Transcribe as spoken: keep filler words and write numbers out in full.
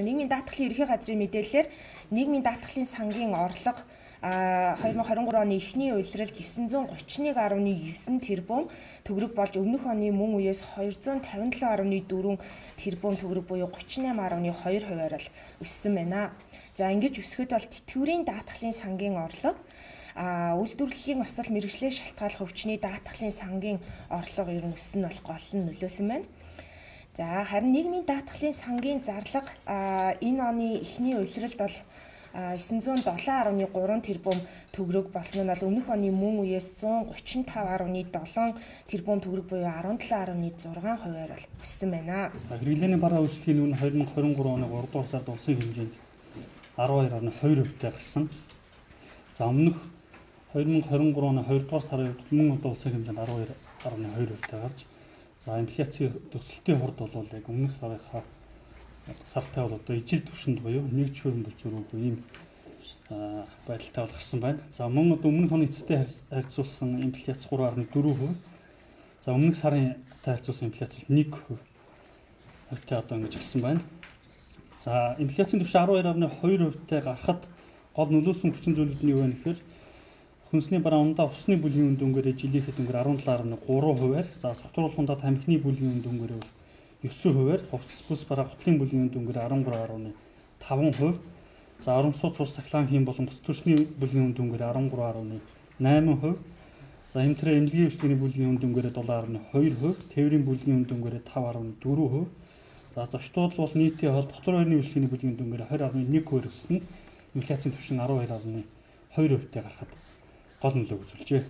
Нийгмийн даатгалын ерөнхий газрын мэдээлэлээр нийгмийн даатгалын сангийн орлого две тысячи двадцать три оны эхний улиралд девятьсот тридцать один гаруй девять тэрбум төгрөг болж өмнөх оны мөн үеэс двести пятьдесят семь гаруй четыре тэрбум төгрөг буюу тридцать восемь гаруй two хувиар л өссөн байна. За ингэж өсгөд бол тэтгэврийн даатгалын сангийн орлого а үйлдвэрлэлийн осол мэргэжлээ шалтгааллах өвчний даатгалын сангийн орлого ер нь өссөн нь бол гол нь нөлөөсөн байна. За харин нийгмийн даатгалын сангийн зарлага энэ оны эхний улиралд бол девятьсот seven гаруй three тэрбум төгрөг болсон нь бол өмнөх оны мөн үеэс one thirty-five гаруй seven тэрбум төгрөг буюу seventy seven гаруй six хувиар бол өссөн байна. Хэрэглээний бараа үйлчлэгийн үн twenty twenty-three оны three дугаар сард улсын хэмжээнд twelve гаруй two хувьтай гарсан. За өмнөх twenty twenty-three оны two дугаар сарын үед мөн одоо улсын хэмжээнд twelve гаруй two хувьтай гарч за инфляцийн төсөлтийн хурд бол яг өмнөх сарынхаа сартай бол одоо ижил түвшинд буюу one percent бүлзүүргүй ийм байдалтай бол гарсан байна. За мөн одоо өмнөх оны эцэстэй харьцуулсан инфляц three point four percent. За өмнөх сарын харьцуулсан инфляц one percent хувьтай одоо ингэж гарсан байна. За инфляцийн түвшин twelve point two percent-тай гарахад гол нөлөөсөн хүчин зүйлүүд нь юу вэ гэхээр хүнсний бараа ундаа усны бүлгийн үн дүнгээр жилийнхэд өнгөр seventeen point three хувиар, за согтруулахундаа тамхины бүлгийн үн дүнгээр nine хувиар, хувцас бүс бараа гутлын бүлгийн үн дүнгээр thirteen point five хувь, за орон сууц ус сахлаан хийм болон бус төрчний бүлгийн үн дүнгээр thirteen point eight хувь, за хэмтрээ эмнэлгийн үйлчлэгийн бүлгийн үн дүнгээр seven point two хувь, тээврийн бүлгийн үн дүнгээр five point four хувь, за зочдууд бол нийтийн хол дотор байрны үйлчлэгийн бүлгийн үн дүнгээр twenty point one хувиар өснө. Инфляцийн түвшин twelve point two хувьтай гарахад гол нөлөө үзүүлжээ.